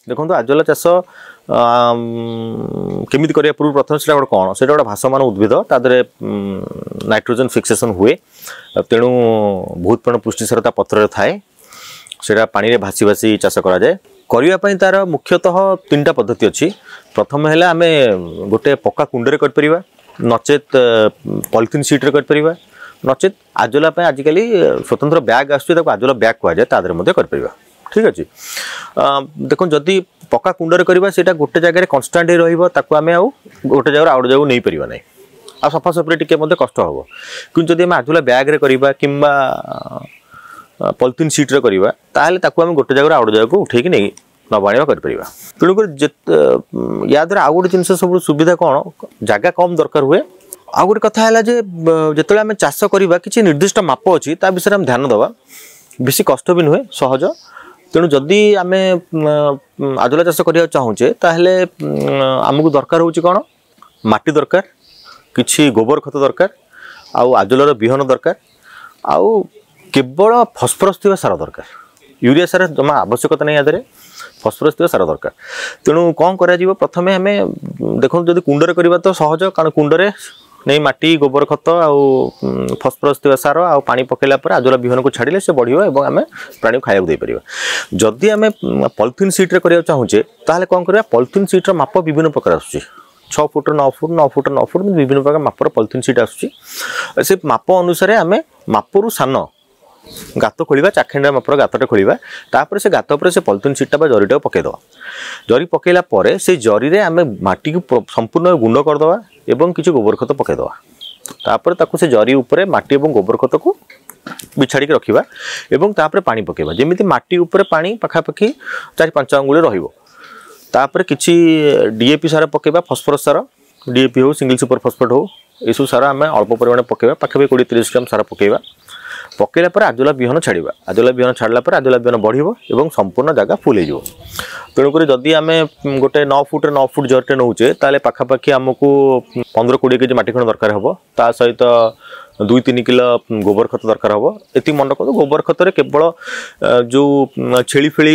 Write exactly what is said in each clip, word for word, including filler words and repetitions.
ଦେଖନ୍ତୁ ଆଜୋଲା ଚାଷ କେମିତି କରିବା ପୂର୍ବରୁ ପ୍ରଥମେ ସେଇଟା ଗୋଟେ କ'ଣ ସେଇଟା ଗୋଟେ ଭାସମାନ ଉଦ୍ଭିଦ ତା ଦେହରେ ନାଇଟ୍ରୋଜେନ୍ ଫିକ୍ସେସନ୍ ହୁଏ ତେଣୁ ବହୁତ ପରିମାଣ ପୁଷ୍ଟିସାର ତା ପତ୍ରରେ ଥାଏ ସେଇଟା ପାଣିରେ ଭାସି ଭାସି ଚାଷ କରାଯାଏ କରିବା ପାଇଁ ତାର ମୁଖ୍ୟତଃ ତିନିଟା ପଦ୍ଧତି ଅଛି ପ୍ରଥମ ହେଲା ଆମେ ଗୋଟେ ପକ୍କା କୁଣ୍ଡରେ କରିପାରିବା ନଚେତ୍ ପଲିଥିନ୍ ସିଟ୍ରେ କରିପାରିବା ନଚେତ୍ ଆଜୋଲା ପାଇଁ ଆଜିକାଲି ସ୍ୱତନ୍ତ୍ର ବ୍ୟାଗ୍ ଆସୁଛି ତାକୁ ଆଜୋଲା ବ୍ୟାଗ୍ କୁହାଯାଏ ତା ଦେହରେ ମଧ୍ୟ କରିପାରିବା ଠିକ୍ ଅଛି ଦେଖନ୍ତୁ ଯଦି ପକ୍କା କୁଣ୍ଡରେ କରିବା ସେଇଟା ଗୋଟେ ଜାଗାରେ କନଷ୍ଟାଣ୍ଟ ହେଇ ରହିବ ତାକୁ ଆମେ ଆଉ ଗୋଟେ ଜାଗାରୁ ଆଉ ଗୋଟେ ଜାଗାକୁ ନେଇପାରିବା ନାହିଁ ଆଉ ସଫାସଫିରେ ଟିକେ ମଧ୍ୟ କଷ୍ଟ ହେବ କିନ୍ତୁ ଯଦି ଆମେ ଆଜୋଲା ବ୍ୟାଗ୍ରେ କରିବା କିମ୍ବା ପଲିଥିନ୍ ସିଟ୍ରେ କରିବା ତାହେଲେ ତାକୁ ଆମେ ଗୋଟେ ଜାଗାରୁ ଆଉ ଗୋଟେ ଜାଗାକୁ ଉଠେଇକି ନେଇ ନେବା ଆଣିବା କରିପାରିବା ତେଣୁକରି ଯେତେ ୟା ଦ୍ୱାରା ଆଉ ଗୋଟେ ଜିନିଷ ସବୁଠୁ ସୁବିଧା କ'ଣ ଜାଗା କମ୍ ଦରକାର ହୁଏ ଆଉ ଗୋଟେ କଥା ହେଲା ଯେ ଯେତେବେଳେ ଆମେ ଚାଷ କରିବା କିଛି ନିର୍ଦ୍ଦିଷ୍ଟ ମାପ ଅଛି ତା ବିଷୟରେ ଆମେ ଧ୍ୟାନ ଦେବା ବେଶୀ କଷ୍ଟ ବି ନୁହେଁ ସହଜ ତେଣୁ ଯଦି ଆମେ ଆଜୋଲା ଚାଷ କରିବାକୁ ଚାହୁଁଛେ ତାହେଲେ ଆମକୁ ଦରକାର ହେଉଛି କ'ଣ ମାଟି ଦରକାର କିଛି ଗୋବର ଖତ ଦରକାର ଆଉ ଆଜୋଲାର ବିହନ ଦରକାର ଆଉ କେବଳ ଫସ୍ଫରସ୍ ଥିବା ସାର ଦରକାର ୟୁରିଆ ସାର ଜମା ଆବଶ୍ୟକତା ନାହିଁ ୟା ଦେହରେ ଫସ୍ଫରସ୍ ଥିବା ସାର ଦରକାର ତେଣୁ କ'ଣ କରାଯିବ ପ୍ରଥମେ ଆମେ ଦେଖନ୍ତୁ ଯଦି କୁଣ୍ଡରେ କରିବା ତ ସହଜ କାରଣ କୁଣ୍ଡରେ ନେଇ ମାଟି ଗୋବର ଖତ ଆଉ ଫସ୍ଫରସ୍ ଥିବା ସାର ଆଉ ପାଣି ପକାଇଲା ପରେ ଆଜୋଲା ବିହନକୁ ଛାଡ଼ିଲେ ସେ ବଢ଼ିବ ଏବଂ ଆମେ ପ୍ରାଣୀକୁ ଖାଇବାକୁ ଦେଇପାରିବା ଯଦି ଆମେ ପଲିଥିନ୍ ସିଟ୍ରେ କରିବାକୁ ଚାହୁଁଛେ ତାହେଲେ କ'ଣ କରିବା ପଲିଥିନ୍ ସିଟ୍ର ମାପ ବିଭିନ୍ନ ପ୍ରକାର ଆସୁଛି ଛଅ ଫୁଟ ନଅ ଫୁଟ ନଅ ଫୁଟ ନଅ ଫୁଟ ବିଭିନ୍ନ ପ୍ରକାର ମାପର ପଲିଥିନ୍ ସିଟ୍ ଆସୁଛି ସେ ମାପ ଅନୁସାରେ ଆମେ ମାପରୁ ସାନ ଗାତ ଖୋଳିବା ଚାଖେଣ୍ଡା ମାପର ଗାତଟେ ଖୋଳିବା ତାପରେ ସେ ଗାତ ଉପରେ ସେ ପଲିଥିନ୍ ସିଟ୍ଟା ବା ଜରିଟାକୁ ପକାଇଦେବା ଜରି ପକାଇଲା ପରେ ସେଇ ଜରିରେ ଆମେ ମାଟିକୁ ସମ୍ପୂର୍ଣ୍ଣ ଗୁଣ୍ଡ କରିଦେବା ଏବଂ କିଛି ଗୋବର ଖତ ପକାଇଦେବା ତାପରେ ତାକୁ ସେ ଜରି ଉପରେ ମାଟି ଏବଂ ଗୋବର ଖତକୁ ବିଛାଡ଼ିକି ରଖିବା ଏବଂ ତାପରେ ପାଣି ପକାଇବା ଯେମିତି ମାଟି ଉପରେ ପାଣି ପାଖାପାଖି ଚାରି ପାଞ୍ଚ ଆଙ୍ଗୁଳି ରହିବ ତାପରେ କିଛି ଡିଏପି ସାର ପକାଇବା ଫସ୍ଫରସ୍ ସାର ଡିଏପି ହେଉ ସିଙ୍ଗଲ ସୁପର ଫସ୍ଫେଟ୍ ହେଉ ଏସବୁ ସାର ଆମେ ଅଳ୍ପ ପରିମାଣରେ ପକାଇବା ପାଖାପାଖି କୋଡ଼ିଏ ତିରିଶ ଗ୍ରାମ ସାର ପକାଇବା ପକାଇଲା ପରେ ଆଜୋଲା ବିହନ ଛାଡ଼ିବା ଆଜୋଲା ବିହନ ଛାଡ଼ିଲା ପରେ ଆଜୋଲା ବିହନ ବଢ଼ିବ ଏବଂ ସମ୍ପୂର୍ଣ୍ଣ ଜାଗା ଫୁଲ୍ ହେଇଯିବ ତେଣୁକରି ଯଦି ଆମେ ଗୋଟେ ନଅ ଫୁଟରେ ନଅ ଫୁଟ ଜରିଟେ ନେଉଛେ ତାହେଲେ ପାଖାପାଖି ଆମକୁ ପନ୍ଦର କୋଡ଼ିଏ କେଜି ମାଟି ଖଣ୍ଡ ଦରକାର ହେବ ତା ସହିତ ଦୁଇ ତିନି କିଲୋ ଗୋବର ଖତ ଦରକାର ହେବ ଏତିକି ମନେ ରଖନ୍ତୁ ଗୋବର ଖତରେ କେବଳ ଯେଉଁ ଛେଳି ଫେଳି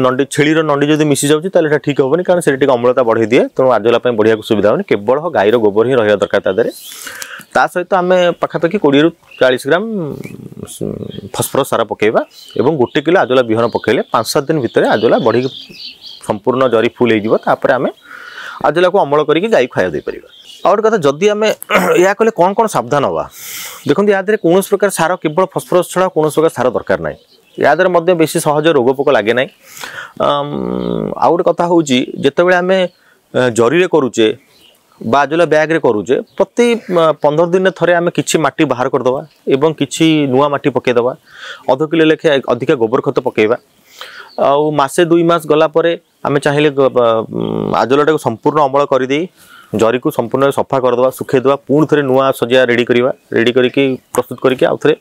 ନଣ୍ଡି ଛେଳିର ନଣ୍ଡି ଯଦି ମିଶି ଯାଉଛି ତାହେଲେ ଏଇଟା ଠିକ୍ ହେବନି କାରଣ ସେଟା ଟିକେ ଅମ୍ଳତା ବଢ଼େଇ ଦିଏ ତେଣୁ ଆଜୋଲା ପାଇଁ ବଢ଼ିବାକୁ ସୁବିଧା ହେବନି କେବଳ ଗାଈର ଗୋବର ହିଁ ରହିବା ଦରକାର ତା ଦେହରେ ତା ସହିତ ଆମେ ପାଖାପାଖି କୋଡ଼ିଏରୁ ଚାଳିଶ ଗ୍ରାମ ଫସ୍ଫରସ୍ ସାର ପକାଇବା ଏବଂ ଗୋଟେ କିଲୋ ଆଜୋଲା ବିହନ ପକାଇଲେ ପାଞ୍ଚ ସାତ ଦିନ ଭିତରେ ଆଜୋଲା ବଢ଼ିକି ସମ୍ପୂର୍ଣ୍ଣ ଜରି ଫୁଲ୍ ହେଇଯିବ ତାପରେ ଆମେ ଆଜୋଲାକୁ ଅମଳ କରିକି ଗାଈ ଖାଇବାକୁ ଦେଇପାରିବା ଆଉ ଗୋଟେ କଥା ଯଦି ଆମେ ଏହା କଲେ କ'ଣ କ'ଣ ସାବଧାନ ହେବା ଦେଖନ୍ତୁ ୟା ଦେହରେ କୌଣସି ପ୍ରକାର ସାର କେବଳ ଫସ୍ଫରସ୍ ଛଡ଼ା କୌଣସି ପ୍ରକାର ସାର ଦରକାର ନାହିଁ ୟା ଦେହରେ ମଧ୍ୟ ବେଶୀ ସହଜ ରୋଗ ପୋକ ଲାଗେ ନାହିଁ ଆଉ ଗୋଟେ କଥା ହେଉଛି ଯେତେବେଳେ ଆମେ ଜରିରେ କରୁଛେ ବା ଆଜୋଲା ବ୍ୟାଗ୍ରେ କରୁଛେ ପ୍ରତି ପନ୍ଦର ଦିନରେ ଥରେ ଆମେ କିଛି ମାଟି ବାହାର କରିଦେବା ଏବଂ କିଛି ନୂଆ ମାଟି ପକାଇଦେବା ଅଧ କିଲୋ ଲେଖେ ଅଧିକା ଗୋବର ଖତ ପକାଇବା ଆଉ ମାସେ ଦୁଇ ମାସ ଗଲା ପରେ ଆମେ ଚାହିଁଲେ ଆଜୋଲାଟାକୁ ସମ୍ପୂର୍ଣ୍ଣ ଅମଳ କରିଦେଇ ଜରିକୁ ସମ୍ପୂର୍ଣ୍ଣ ସଫା କରିଦେବା ଶୁଖେଇଦେବା ପୁଣି ଥରେ ନୂଆ ଶଯ୍ୟା ରେଡ଼ି କରିବା ରେଡ଼ି କରିକି ପ୍ରସ୍ତୁତ କରିକି ଆଉ ଥରେ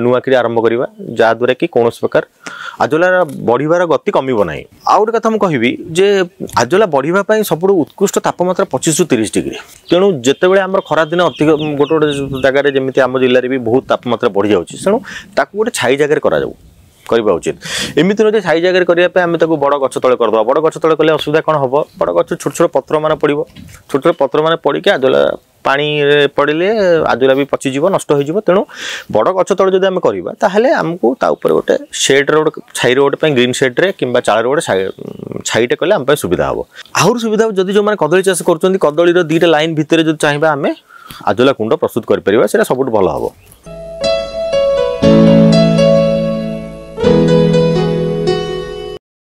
ନୂଆ କରି ଆରମ୍ଭ କରିବା ଯାହାଦ୍ୱାରା କି କୌଣସି ପ୍ରକାର ଆଜୋଲାର ବଢ଼ିବାର ଗତି କମିବ ନାହିଁ ଆଉ ଗୋଟେ କଥା ମୁଁ କହିବି ଯେ ଆଜୋଲା ବଢ଼ିବା ପାଇଁ ସବୁଠୁ ଉତ୍କୃଷ୍ଟ ତାପମାତ୍ରା ପଚିଶରୁ ତିରିଶ ଡିଗ୍ରୀ ତେଣୁ ଯେତେବେଳେ ଆମର ଖରାଦିନ ଅଧିକ ଗୋଟେ ଗୋଟେ ଜାଗାରେ ଯେମିତି ଆମ ଜିଲ୍ଲାରେ ବି ବହୁତ ତାପମାତ୍ରା ବଢ଼ିଯାଉଛି ତେଣୁ ତାକୁ ଗୋଟେ ଛାଇ ଜାଗାରେ କରାଯାଉ କରିବା ଉଚିତ ଏମିତି ନୁହେଁ ଯେ ଛାଇ ଜାଗାରେ କରିବା ପାଇଁ ଆମେ ତାକୁ ବଡ଼ ଗଛ ତଳେ କରିଦେବା ବଡ଼ ଗଛ ତଳେ କଲେ ଅସୁବିଧା କ'ଣ ହେବ ବଡ଼ ଗଛ ଛୋଟ ଛୋଟ ପତ୍ରମାନେ ପଡ଼ିବ ଛୋଟ ଛୋଟ ପତ୍ରମାନେ ପଡ଼ିକି ଆଜୋଲା ପାଣିରେ ପଡ଼ିଲେ ଆଜୋଲା ବି ପଚିଯିବ ନଷ୍ଟ ହୋଇଯିବ ତେଣୁ ବଡ଼ ଗଛ ତଳେ ଯଦି ଆମେ କରିବା ତାହେଲେ ଆମକୁ ତା ଉପରେ ଗୋଟେ ସେଡ଼୍ର ଗୋଟେ ଛାଇର ଗୋଟେ ପାଇଁ ଗ୍ରୀନ୍ ସେଡ଼୍ରେ କିମ୍ବା ଚାଳର ଗୋଟେ ଛାଇଟେ କଲେ ଆମ ପାଇଁ ସୁବିଧା ହେବ ଆହୁରି ସୁବିଧା ହେବ ଯଦି ଯେଉଁମାନେ କଦଳୀ ଚାଷ କରୁଛନ୍ତି କଦଳୀର ଦୁଇଟା ଲାଇନ୍ ଭିତରେ ଯଦି ଚାହିଁବା ଆମେ ଆଜୋଲା କୁଣ୍ଡ ପ୍ରସ୍ତୁତ କରିପାରିବା ସେଇଟା ସବୁଠୁ ଭଲ ହେବ